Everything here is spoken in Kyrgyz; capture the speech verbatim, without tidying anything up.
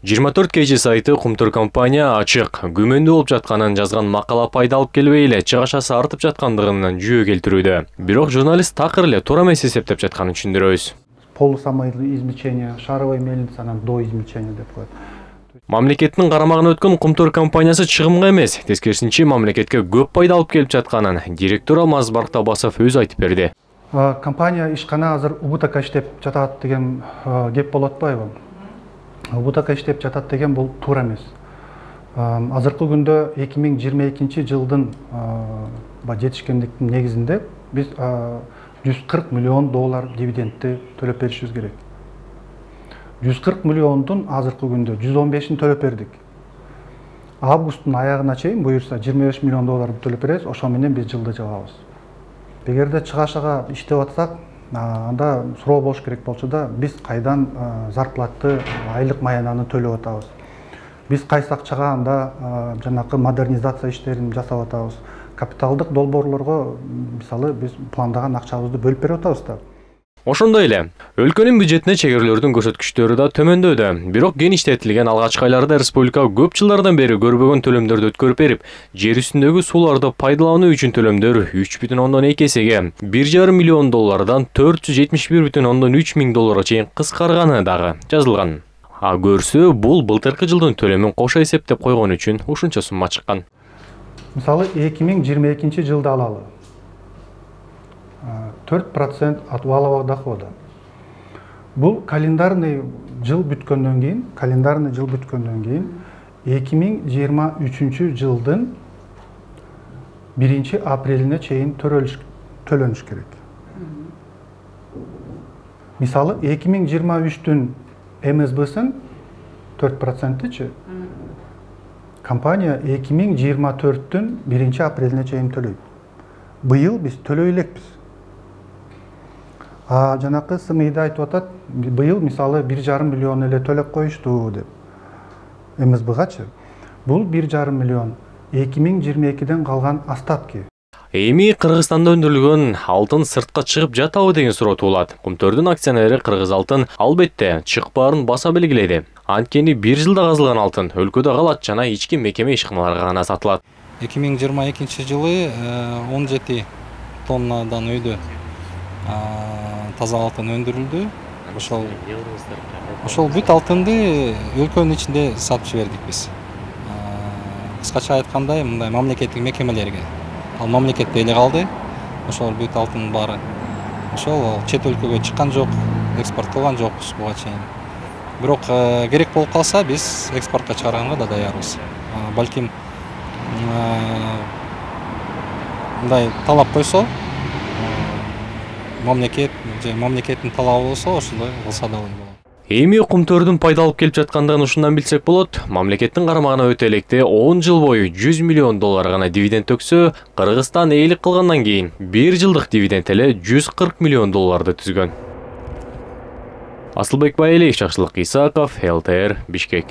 жыйырма төрт кей жи сайты Кумтөр компания ачык, күмөндүү болуп жатканын жазган макала пайда алып келбей эле чыгашасы артып жаткандыгын жүйө келтирүүдө. Бирок журналист такыр эле туура эмес эсептеп жатканын түшүндүрөбүз. Полусамоизмещение, шаровой мельница, анан доизмещение деп коет. Мамлекеттин карамагына өткөн Кумтөр компаниясы чыгымга эмес, тескерисинче мамлекетке көп пайда алып келип жатканын директор Алмаз Барктабасов өзү айтып берди. Компания ишкана азыр убутакка иштеп жатат деген кеп болуп атпайбы? Убутакка иштеп жатат деген бул туура эмес. Азыркы күндө эки миң жыйырма экинчи жылдын жетишкендиктин негизинде биз жүз кырк миллион доллар дивидендти төлөп беришибиз керек. жүз кырк миллиондун азыркы күндө жүз он бешин төлөп бердик. Августтун аягына чейин буюрса жыйырма беш миллион доллар төлөп беребиз, ошо менен биз жылды жабабыз. Эгерде чыгашага иштеп атсак, анда суроо болуш керек болчу да, биз кайдан зарплатты, айлык маянаны төлөп атабыз. Биз кайсы акчага анда жанакы модернизация иштерин жасап атабыз. Капиталдык долбоорлорго мисалы биз пландаган акчабызды бөлүп берип атабыз да. Ошондой эле, өлкөнүн бюджетине чегерүүлөрдүн көрсөткүчтөрү да төмөндөдү. Бирок геништетилген алгачкы айларда республика көп жылдардан бери көрбөгөн төлөмдөрдү өткөрүп берип, жер үстүндөгү сууларды пайдалануу үчүн төлөмдөр үч бүтүн ондон эки эсеге, бир жарым миллион доллардан төрт жүз жетимиш бир бүтүн ондон үч миң долларга чейин кыскарганы дагы жазылган. А көрсө, бул былтыркы жылдын төлөмүн кошо эсептеп койгон үчүн ушунча сумма чыккан. Мисалы эки миң жыйырма экинчи жылды алалы. төрт процент от валового дохода. Бул календарный жыл бүткөндөн кийин, календарный жыл бүткөндөн кийин эки миң жыйырма үчүнчү жылдын биринчи апрелине чейин төлөнүш керек. Мисалы эки миң жыйырма үчтүн эм эс б-сын төрт проценттичи компания эки миң жыйырма төрттүн биринчи апрелине чейин төлөйт. Быйыл биз төлөй элекпиз. А жанакы СМИда айтып атат, быйыл мисалы бир жарым миллион эле төлөп коюшту деп. эм эс б-гачы. Бул бир жарым миллион эки миң жыйырма экиден калган остатки. Эми Кыргызстанда өндүрүлгөн алтын сыртка чыгып жатабы деген суроо туулат. Кумтөрдүн акционери Кыргыз алтын албетте чыкпаарын баса белгиледи. Анткени бир жылда казылган алтын өлкөдө калат жана ички мекеме ишканаларга гана сатылат. эки миң жыйырма экинчи жылы он жети тоннадан өйдө таза алтын өндүрүлдү. Ошол ошол бүт алтынды өлкөнүн ичинде сатып жибердик биз. Кыскача айтканда, мындай мамлекеттик мекемелерге. Ал мамлекетте эле калды. Ошол бүт алтын баары. Ошол чет өлкөгө чыккан жок, экспорт кылган жокпуз буга чейин. Бирок керек болуп калса, биз экспортко чыгарганга да даярбыз. Балким мындай талап койсо, мамлекет же мамлекеттин талабы болсо, ошондой кылса да болот. Эми Кумтөрдүн пайда алып келип жаткандыгын ушундан билсек болот. Мамлекеттин карамагына өтө электе он жыл бою жүз миллион доллар гана дивиденд төксө, Кыргызстан ээлик кылгандан кийин бир жылдык дивиденд эле жүз кырк миллион долларды түзгөн. Асылбек Байалиев, Жакшылык Исаков, эл тэ эр, Бишкек.